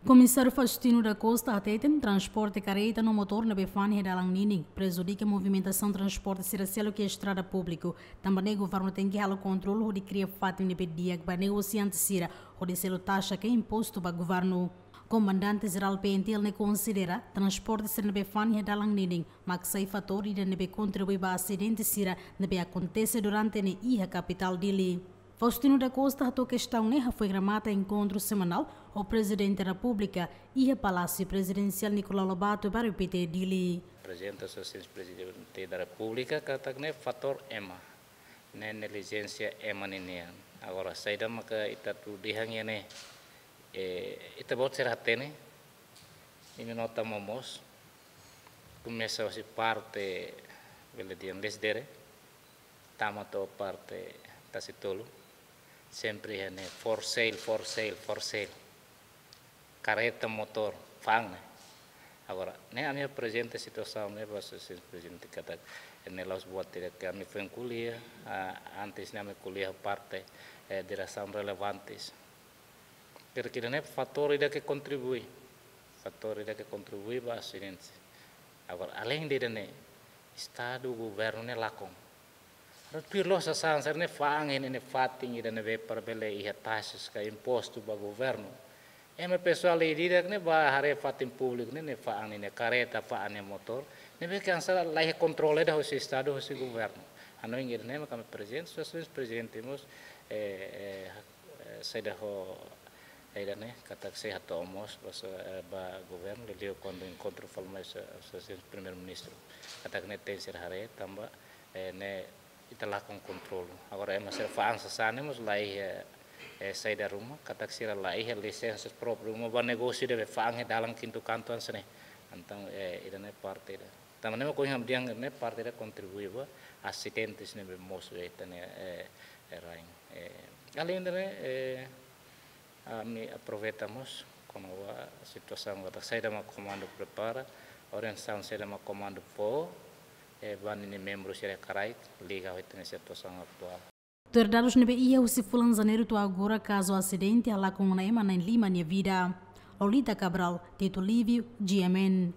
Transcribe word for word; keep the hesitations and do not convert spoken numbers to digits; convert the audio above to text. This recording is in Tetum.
Komisáriu Faustino da Costa hateten transporte karreta no motór ne'ebé fa'an iha dalan ninin prejudika movimentasaun transporte sira seluk iha estrada públiku. Tanba ne'e governu tenke halo kontrolu hodi kria fatin ne'ebé di'ak ba negosiante sira hodi selu taxa ka impostu ba governu. Komandante Jerál P N T L ne'e konsidera transporte sira ne'ebé fa'an iha dalan ninin mak sai fatór ida ne'ebé kontribui ba asidente sira ne'ebé akontese durante ne'e iha kapitál Dili. Faustino da Costa hato'o kestaun ne'e hafoin remata enkontru semanál ho Prezidente Repúblika iha Palásiu Prezidensiál Nicolau Lobato, bairru Pité, Dili. Prezidente Asosiasaun Prezidente da Repúblika katak ne'e fatór ema, ne'e neglijénsia ema ninian. Agora saida maka ita atu dehan iha ne'e, eh, ita-boot sira hatene, imi nota mós, komesa husi parte bele dehan Lecidere, tama to'o parte Tasitolu, sempre iha ne'e for sale, for sale, for sale. Karreta, motór, fa'an ne'e. Agora, ne'e ami aprezenta situasaun ne'e ba Asosiasaun Prezidente katak ne'e la'ós buat ida ke ami foin ko'alia, ah, antes ne'e ami ko'alia ho parte, eh, diresaun relevantes. Kira-kira ne'e fatór ida ke kontribui, fatór ida ke kontribui ba asidente. Agora, aleinde ida-ne'e, Estadu, governu ne'e lakon. Agora tuir loos sasán sira-ne'e fa'an iha ne'e fatin ida ne'ebé para bele iha taxas ka impostu ba governu. Ema pesoál ida-idak ne'e bá haree fatin públiku ne'e, ne'e fa'an ninia karreta, fa'an ninia motór, ne'ebé ke hanesan la iha kontrolu ida husi Estadu, husi governu. Hanoin ida-ne'e mak ami prezidente, Asosiasaun Prezidente mós, eh, eh, eh, saida ho, eh, ida-ne'e, katak sei hato'o mós ba so-, eh, ba governu, liuliu kuandu enkontru fali mai so-, Asosiasaun Primeiru-Ministru. Katak ne'e tenke sira haree, tanba, eh, ne'e ita lakon kontrolu. Agora ema sira fa'an sasán ne'e mós la iha, eh, eh, saida ruma, katak sira la iha lisensa própriu ruma ba negósiu ida be fa'an iha dalan kintu kantu hanesan ne'e. Entaun, eh, ida-ne'e parte ida. Tanba ne'e mak ohin ha'u dehan ne'e parte ida kontribui ba asidentes ne'ebé mosu iha ita-nia, eh, eh, rain. Eh, aleinde ne'e, eh, ami aproveita mós kona-ba situasaun katak saida mak komandu prepara, orientasaun saida mak komandu fó, eh, ba ninia membru sira iha karaik, liga ho ita-nia situasaun atuál. Tuir dadus ne'ebé iha husi fulan Janeiru to'o agora kazu asidente halakon ona ema na'in lima nia vida. Lolita Cabral, Tito Livio, G M N.